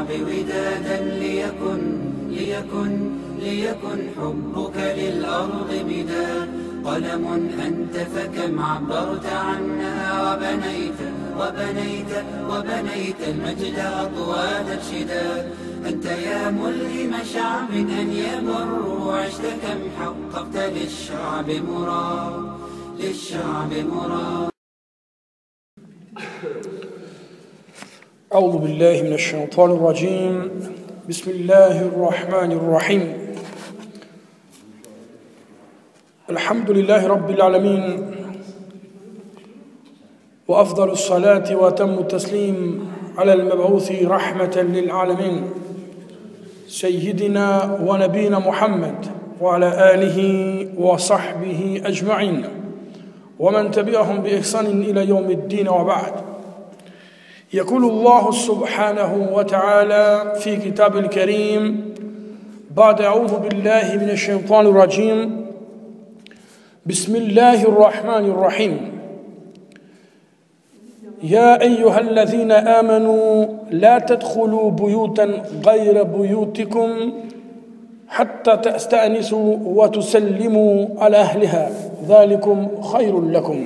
للشعب ودادا ليكن حبك للأرض مداد. قلم أنت فكم عبرت عنها وبنيت المجد أطواد الشداد. أنت يا ملهم شعب أن يبر عشت كم حققت للشعب مراد. أعوذ بالله من الشيطان الرجيم. بسم الله الرحمن الرحيم. الحمد لله رب العالمين، وأفضل الصلاة وأتم التسليم على المبعوث رحمة للعالمين سيدنا ونبينا محمد وعلى آله وصحبه أجمعين ومن تبعهم بإحسان إلى يوم الدين، وبعد. يقول الله سبحانه وتعالى في كتاب الكريم بعد أعوذ بالله من الشيطان الرجيم: بسم الله الرحمن الرحيم. يا أيها الذين آمنوا لا تدخلوا بيوتا غير بيوتكم حتى تستأنسوا وتسلموا على أهلها ذلكم خير لكم.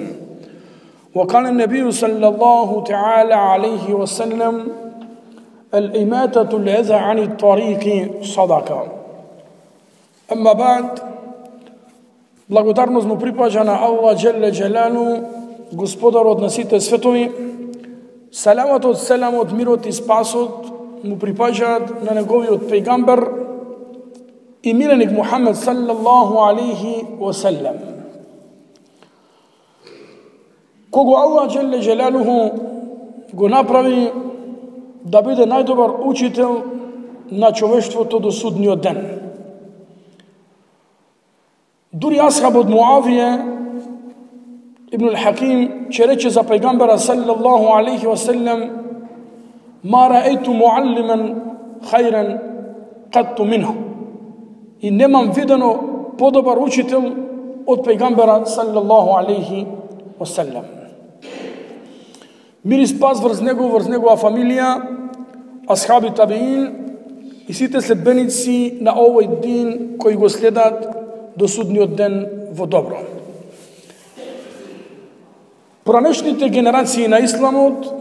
وقال النبي صلى الله تعالى عليه وسلم: الإماتة الأذى عن الطريق صدقة. أما بعد، благодарност му припаѓа на Аллах Джелле Джелану, Господарот на сите светови. Саламатот, селамот, мирот и спасот му припаѓаат на неговиот пејгамбер и миленик Мухамед саллаллаху алейхи васелем. Кого Аллах Джелле Джелалуху го направи да биде најдобар учител на човештвото до судниот ден. Дури асхабот Муавија ибн al-Хаким че рече за пејгамбера саллаллаху алейхи васелем: ма раейту муаллиман хајран катту минху. И немам видено подобар учител од пејгамбера саллаллаху алейхи васелем. Мир и спас врз негова фамилија, асхаби табиин и сите следбеници на овој дин кои го следат до судниот ден во добро. Поранешните генерации на исламот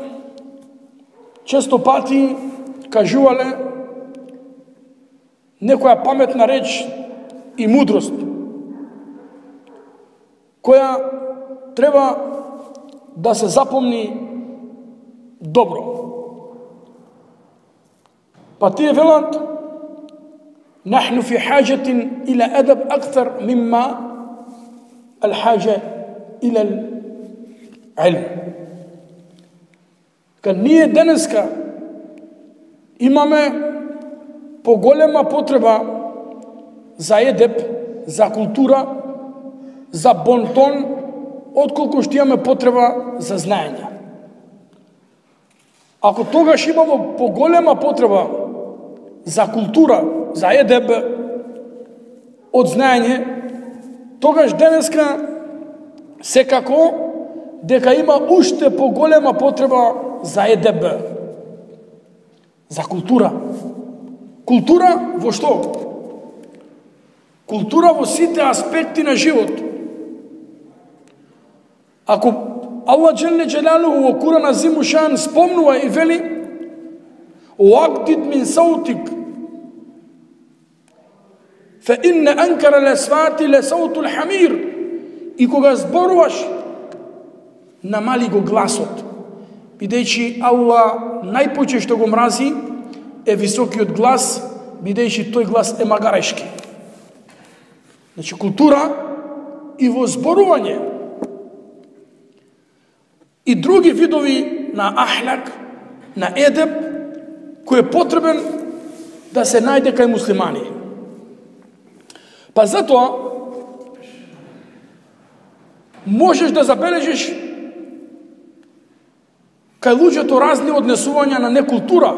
често пати кажувале некоја паметна реч и мудрост која треба да се запомни добро. Па тие велат: نحن في حاجة إلى أدب أكثر مما الحاجة إلى العلم. Кај ние денеска имаме поголема потреба за едеб, за култура, за бонтон, отколку што имаме потреба за знаење. Ако тогаш имamo поголема потреба за култура, за едеб од знаење, тогаш денеска секако дека има уште поголема потреба за едеб, за култура. Култура во што? Култура во сите аспекти на живот. Ако Аллах Джелле Джелалуху во Куран Азим Ушан спомнува и вели: "Уагдид мин саутик فإن أنكر الأصوات لصوت الحمير." И кога зборуваш, намали го гласот, бидејќи Аллах најпоќе што го мрази е високиот глас, бидејќи тој глас е магарешки. Значи култура и во зборување и други видови на ахлак, на едеб, кој е потребен да се најде кај муслимани. Па затоа можеш да забележиш кај луѓето разни однесувања на некултура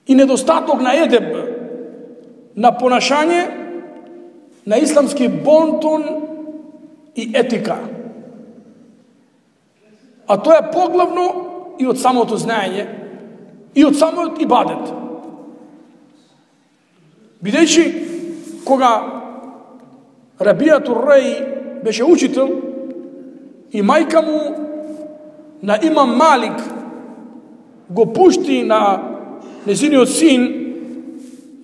и недостаток на едеб, на понашање, на исламски бонтон и етика. А тоа е поглавно и од самото знаење и од самиот ибадет. Бидејќи кога Рабијат ар-Раи беше учител и мајка му на имам Малик го пушти на незиниот син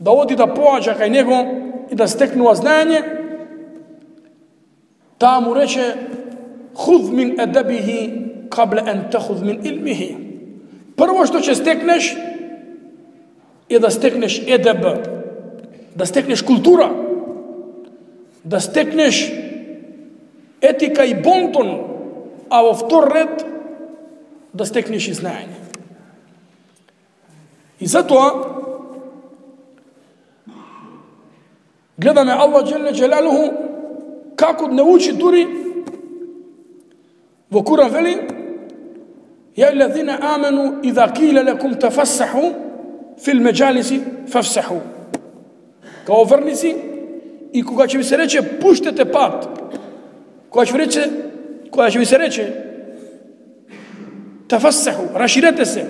да оди да поаѓа кај него и да стекнува знаење, таа му рече: "Худ мин адабихи кабла ан тахуд мин илмихи." Прво што ќе стекнеш е да стекнеш едеб, да стекнеш култура, да стекнеш етика и бонтон, а во втор ред да стекнеш и знаење. И затоа гледаме Аллах Джелле Джелалуху како не учи дури во Куран вели: "Я аллазина аману иза киле лекум тафассаху фил меджалиси фафсаху." Као верници, и кога ќе ви се рече пуштете пат, кога ќе ви се рече тафассаху, раширете се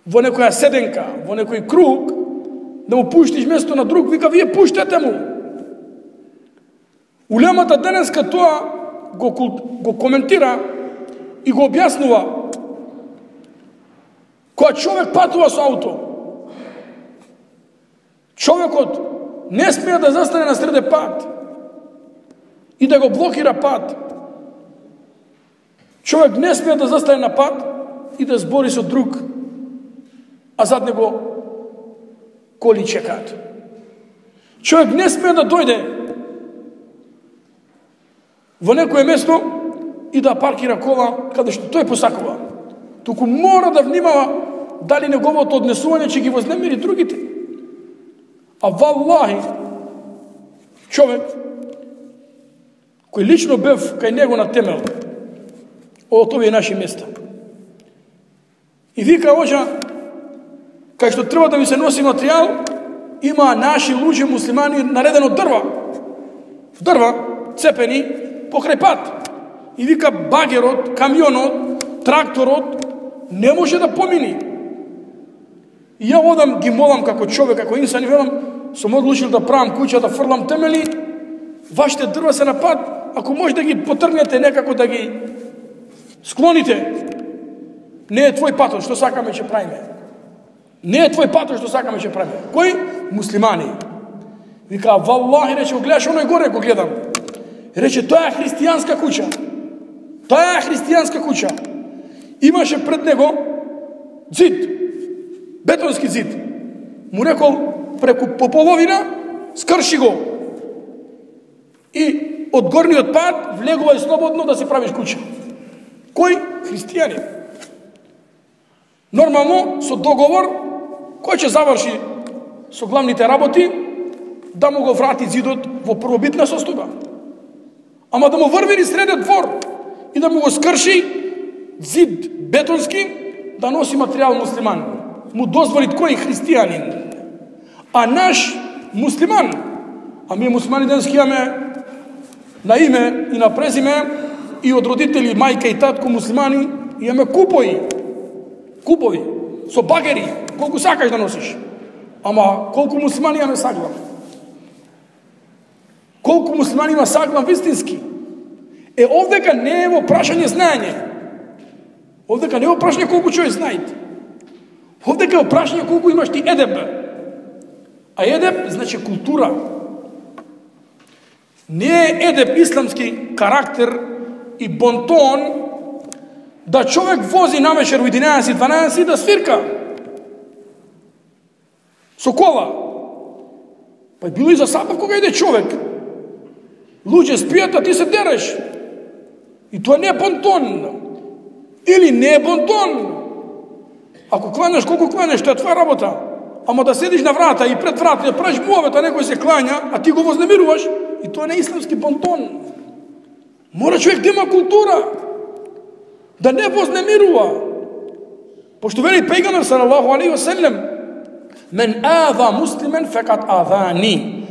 во некоја седенка, во некој круг, да му пуштиш место на друг, вика: "Вие пуштете му." Улемата денеска тоа го коментира и го објаснува. Кога човек патува со ауто, човекот не смее да застане на среде пат и да го блокира пат. Човек не смее да застане на пат и да збори со друг, а зад него коли чекаат. Човек не смее да дојде во некое место и да паркира кола каде што тој посакува. Туку мора да внимава дали неговото однесување ќе ги вознемири другите. А валлахи, човек кој лично бев кај него на темел, од овие наши места, и вика: "Оđа, кај што треба да ми се носи материјал, има наши луѓе муслимани наредено дрва, цепени покрај пат." И вика: "Багерот, камионот, тракторот не може да помини." И ја одам, ги молам како човек, како инсан, и велам: "Сум одлучил да правам куќа, да фрлам темели, вашите дрва се на пат, ако може да ги потргнете некако, да ги склоните. Не е твој патот, што сакаме ќе правиме. Не е твој патот, што сакаме ќе правиме." Кој? Муслимани. Вика: "Валлахи", рече, гледаш оној горе, го гледам. Рече: "Тоа е христијанска куќа. Тоа е христијанска куќа." Имаше пред него зид, бетонски зид. Му рекол: "Преку по половина скрши го. И од горниот пат влегувај слободно да си правиш куќа." Кој? Христијани. Нормално, со договор, кој ќе заврши со главните работи, да му го врати зидот во првобитна состојба. Ама да му врвери среден двор и да му го скрши зид бетонски, да носи материјал муслиман. Му дозволи кој? Христијанин. А наш муслиман, а ние муслимани денески имаме на име и на презиме, и од родители, мајка и татко муслимани, имаме купови, со багери, колку сакаш да носиш. Ама колку муслимани имаме саглав? Колку муслимани има саглав вистински? Овдека не е во прашање знаење. Овдека не е во прашање колку човек знае. Овдека е во прашање колку имаш ти едеб. А едеб значи култура. Не е едеб исламски карактер и бонтон да човек вози навечер во 11-12 да свирка со кола. Па било и за сабав кога иде човек. Луѓе спијат, а ти се дереш. И тоа не е бонтон. Или не е бонтон. Ако кланеш, колку кланеш, тоа е твоја работа. Ама да седиш на врата и пред врата да правиш муавет, а некој се клања, а ти го вознемируваш, и тоа не е исламски бонтон. Мора човек да има култура, да не вознемирува. Пошто вели пејгамбер салаллаху алейхи ва селем: "Мен ава муслимен фекат авани."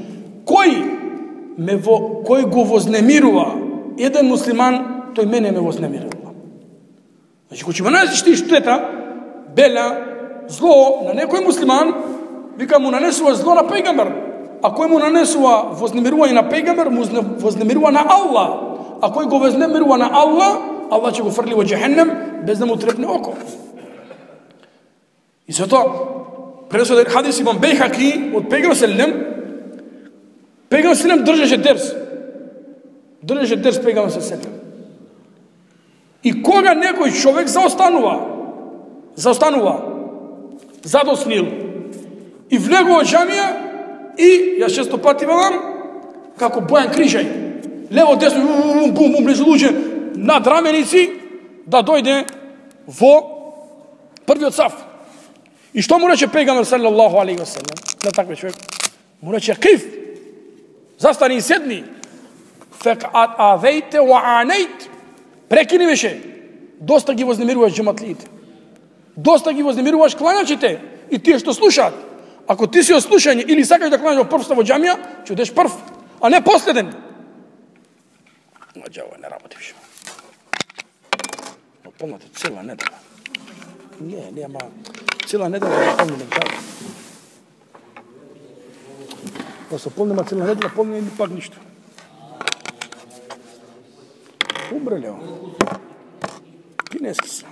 Кој го вознемирува еден муслиман, тој мене ме вознемирува. Значи, кога ќе ме најдеш ти штета, бела, зло на некој муслиман, вика му нанесува зло на пејгамбер. А кој му нанесува вознемирување на пејгамбер, му вознемирува на Аллах. А кој го вознемирува на Аллах, Аллах ќе го фрли во џехеннем без да му трепне око. И затоа пресо хадис имам Бейхаки од пејгамбер селем, пејгамбер селем држеше дерс. Држеше дерс пејгамбер селем. И кога некој човек заостанува, задоснил и влегува џамија и јас често пати велам како Бојан Крижај, лево десно бум бум близу луѓе над раменици да дојде во првиот саф. И што му рече пејгамбер салаллаху алейхи ва салем на таквиот човек? Му рече киф, застани и седни, фекат авејте ва анејт, прекини веше, доста ги вознемируваш џематлиите, доста ги вознемируваш клањачите и тие што слушаат. Ако ти си од слушање или сакаш да клањаш во првста во џамија, ќе одеш прв, а не последен. Маđава не работи више. Но полната цела недела. Нема цела недела да помним џава. Да се полнима цела недела, помним ни пак ништо. Умреле. Кинески са.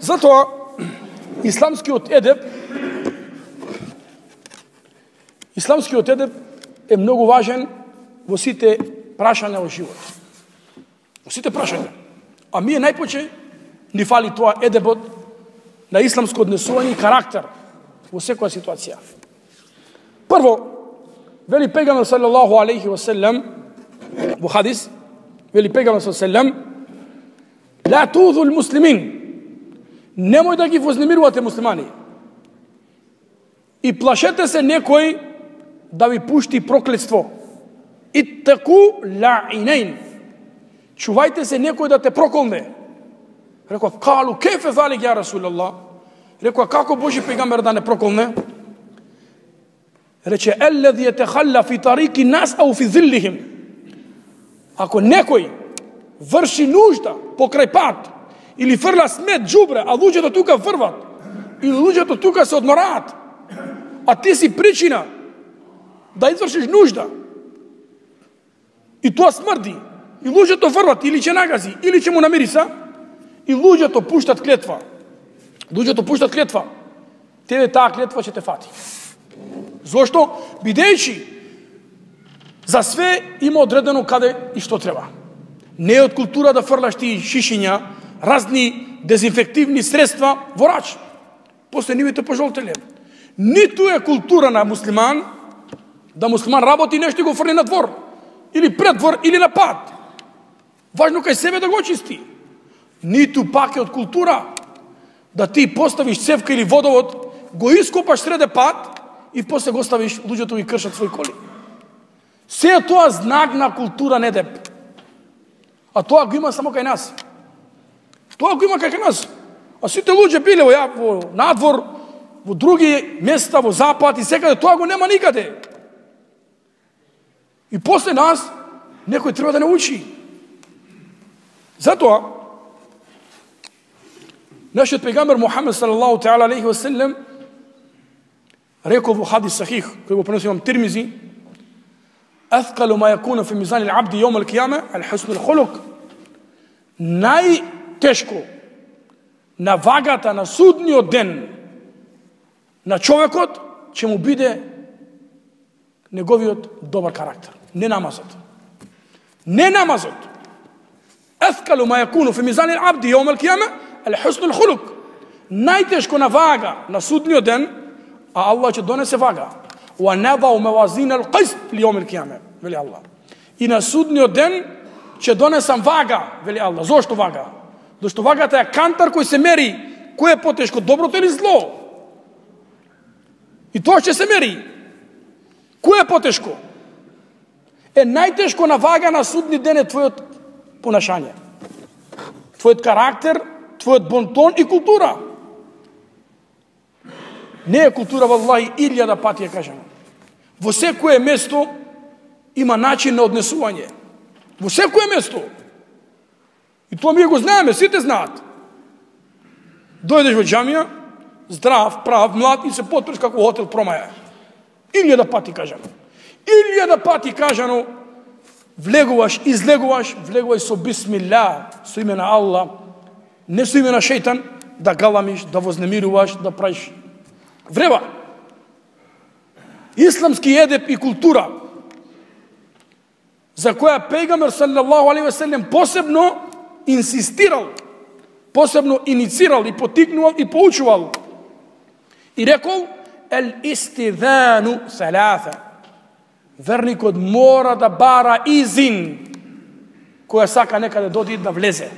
Затоа исламскиот едеб е многу важен во сите прашања во живот. Во сите прашања. А ми најпоче ни фали тоа едебот на исламско однесување и карактер во секоја ситуација. Прво, вели пејгамбер салаллаху алейхи ва салем во хадис, вели пејгамбер салаллаху алейхи ва салем, ла тузул муслимин, немој да ги вознемирувате муслимани. И плашете се некој да ви пушти проклетство. Иттаку лаинейн. Чувајте се некој да те проколне. Рекоа, калу, кефе залик ја Расулаллах? Рекоа, како Божи пејгамбер да не проколне? Рече, еллези етехалла фи тарики нас ау фи зиллихим. Ако некој врши нужда покрај пат, или фрла смет, џубре, а луѓето тука врват, или луѓето тука се одмораат, а ти си причина да извршиш нужда, и тоа смрди, и луѓето врват, или ќе нагази, или ќе му намириса, и луѓето пуштат клетва. Тебе таа клетва ќе те фати. Зошто? Бидејќи за све има одредено каде и што треба. Не е од култура да фрлаш ти шишиња, разни дезинфективни средства во рач. После нивите пожолтеле. Ниту е култура на муслиман да муслиман работи нешто и го фрли на двор, или пред двор, или на пат. Важно кај себе да го чисти. Ниту пак е од култура да ти поставиш цевка или водовод, го ископаш среде пат и после го ставиш, луѓето ги кршат своји коли. Се е тоа знак на култура недеп. А тоа го има само кај нас. А сите луѓе биле во надвор, во други места, во запад и секаде, тоа го нема никаде. И после нас, некој треба да не учи. Затоа, нашиот пејгамбер Мухамед салаллаху таала алейхи ва салем рекол во хадис сахих, кој го преноси имам Тирмизи, аthqalu ma yakunu fi mizan al-abd yawm al-qiyamah al-husn al-khuluq. Најтешко на вагата на судниот ден на човекот ќе му биде неговиот добар карактер, не намазот. Аthqalu ma yakunu fi mizan al-abd yawm al-qiyamah al-husn al-khuluq. Најтешко на вага на судниот ден, а Аллах ќе донесе вага. Wa nadau mawazin al-qist li yawm al-qiyamah, вели Аллах. И на судниот ден ќе донесам вага, вели Аллах. Зошто вага? Зашто вагата е кантар кој се мери кој е потешко, доброто или зло. И тоа ќе се мери. Кој е потешко? Најтешко на вага на судни ден е твојот понашање. Твојот карактер, твојот бонтон и култура. Не е култура, валлахи, 1000 пати ја кажам. Во секое место има начин на однесување. Во секое место. И тоа ми го знаеме, сите знаат. Дојдеш во џамија, здрав, прав, млад и се потпреш како хотел Промаја. 1000 пати кажано. 1000 пати кажано, влегуваш, излегуваш, влегувај со бисмилlah, со име на Аллах, не со име на шејтан, да галамиш, да вознемируваш, да правиш врева. Исламски едеп и култура, за која пегамбер саллаллаху алейхи ве селем посебно инсистирал, посебно иницирал и потикнувал и поучувал. И рекол, ел истидhaну саласа. Верникот мора да бара изин, која сака некаде доди да влезе.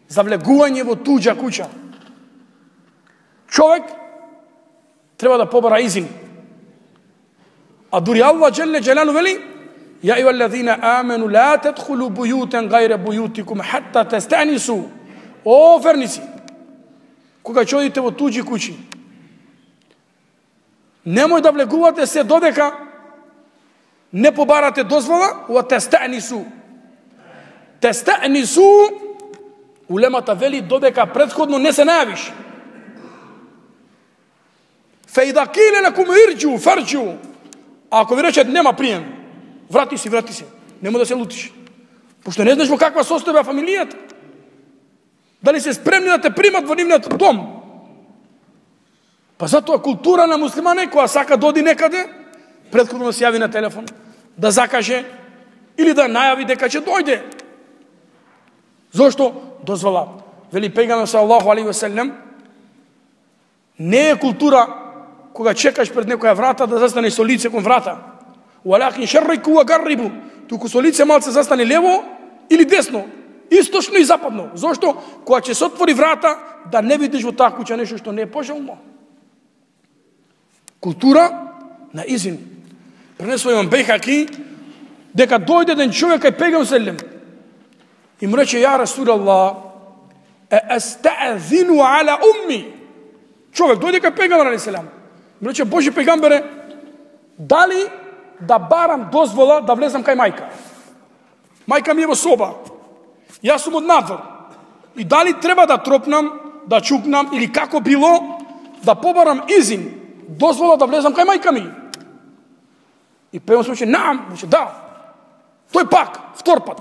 За влегување во туѓа куќа. Човек треба да побара изин. А дури Аллах джелле джелалу вели: "Я ајуҳаллазина амену ла тадхулу бујутан гајра бујутикум хатта тастанису." О верници, кога ќе одите во туѓи куќи, немој да влегувате се додека не побарате дозвола, ва тастанису. Тастанису, улемата вели додека претходно не се најавиш. Фа ида киле лакум ирџу фарџу. Ако ви речат нема прием, врати си, нема да се лутиш. Пошто не знаеш во каква состојба фамилијата. Дали се спремни да те примат во нивниот дом? Па затоа култура на муслимане, која сака доди некаде, претходно да се јави на телефон, да закаже или да најави дека ќе дојде. Зошто? Дозвола. Вели пегамбер саллаллаху алейхи ве селем, не е култура кога чекаш пред некоја врата да застанеш со лице кон врата. Валакин шаррику ва гаррибу. Туку со лице малце застани лево или десно, источно и западно. Зошто? Кога ќе се отвори врата, да не видиш во таа куќа нешто што не е пожелно. Култура на изин. Пренесува имам Бейхаки, дека дојде ден човек кај пегамбер селем и му рече: "Ја Расулаллах, естаъзину ала умми." Човек дојде кај пегамбер селем. Му рече: "Божи пегамбере, дали да барам дозвола да влезам кај мајка? Мајка ми е во соба. Јас сум од надвор. И дали треба да тропнам, да чукнам или како било да побарам изин, дозвола да влезам кај мајка ми?" И пегамбер рече: "Наам." Рече: "Да." Тој пак, втор пат.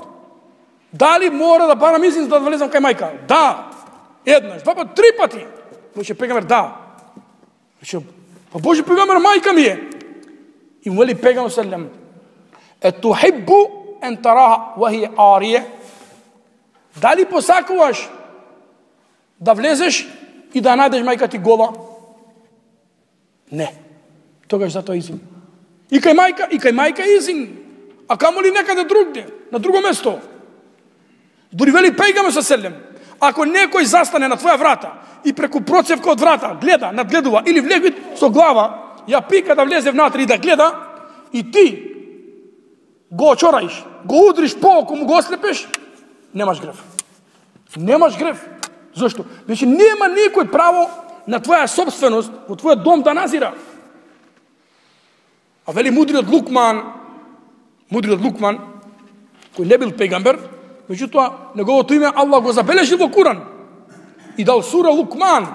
"Дали мора да барам изин за да влезам кај мајка?" "Да." Еднаш, два пат, три пати. Рече пегамбер: "Да." Рече: "Па Божи пегамбер, мајка ми е." И му вели пегамбер селем: "Етухиббу ен тараха ва хија арија?" Дали посакуваш да влезеш и да најдеш мајка ти гола? Не. Тогаш затоа изин. И кај мајка изин. А камоли некаде другде, на друго место. Дури вели пегамбер селем: ако некој застане на твоја врата и преку процевка од врата гледа, надгледува или влеги со глава, ја пика да влезе внатре и да гледа, и ти го очораиш, го удриш по око, му го ослепеш, немаш грев. Немаш грев. Зошто? Значи нема никој право на твоја собственост во твојот дом да назира. А вели мудриот Лукман, кој не бил пегамбер, меѓутоа неговото име Аллах го забележи во Куран и дал сура Лукман.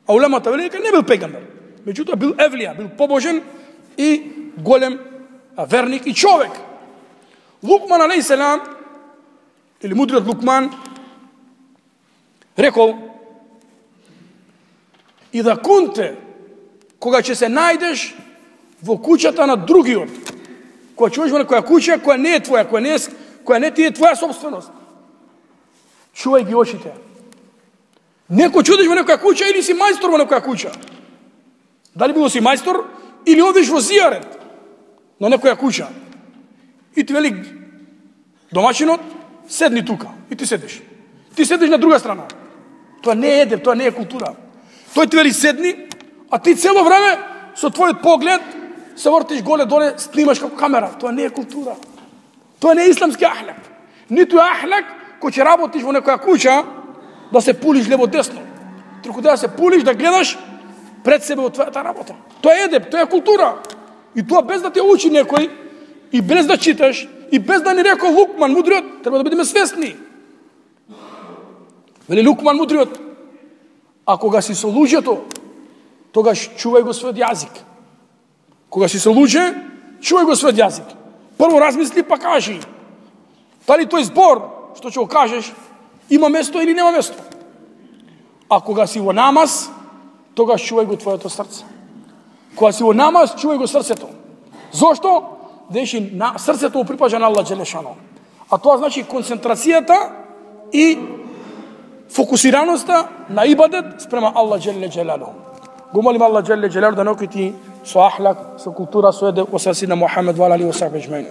А улемата вели дека не бил пегамбер, меѓутоа бил евлија, бил побожен и голем верник и човек. Лукман алейхиселам, или мудриот Лукман, рекол: "И да кунте, кога ќе се најдеш во куќата на другиот, кога ќе одиш во некоја куќа која не е твоја, која не ти е твоја собственост, чувај ги очите. Некој ќе одиш во некоја куќа или си мајстор во некоја куќа. Дали било си мајстор или одиш во зијарет на некоја куќа. И ти вели домаќинот: седни тука. И ти седиш. Ти седиш на друга страна. Тоа не е едеп, тоа не е култура. Тој ти вели седни, а ти цело време со твојот поглед се вртиш голе-доле, снимаш како камера. Тоа не е култура. Тоа не е исламски ахлак. Ниту е ахлак кој ќе работиш во некоја куќа да се пулиш лево-десно. Туку да се пулиш, да гледаш пред себе од твојата работа. Тоа е едеп, тоа е култура. И тоа без да те учи некој, и без да читаш, И без да ни рекол Лукман мудриот, треба да бидеме свесни. Вели Лукман мудриот, а кога си со луѓето, тогаш чувај го својот јазик. Кога си со луѓе, чувај го својот јазик. Прво размисли, па кажи. Дали тој збор, што ќе го кажеш, има место или нема место. А кога си во намаз, тогаш чувај го твоето срце. Кога си во намаз, чувај го срцето. Зошто? Деши срцето припаѓа на Аллах Джелешано. А тоа значи концентрацијата и фокусираноста на ибадет спрема Аллах Джелешано. Го молим Аллах Джелешано да нокити со ахлак, со култура, со едеб, со сина Мухамед ва алейхи ва сахбе аџмаин.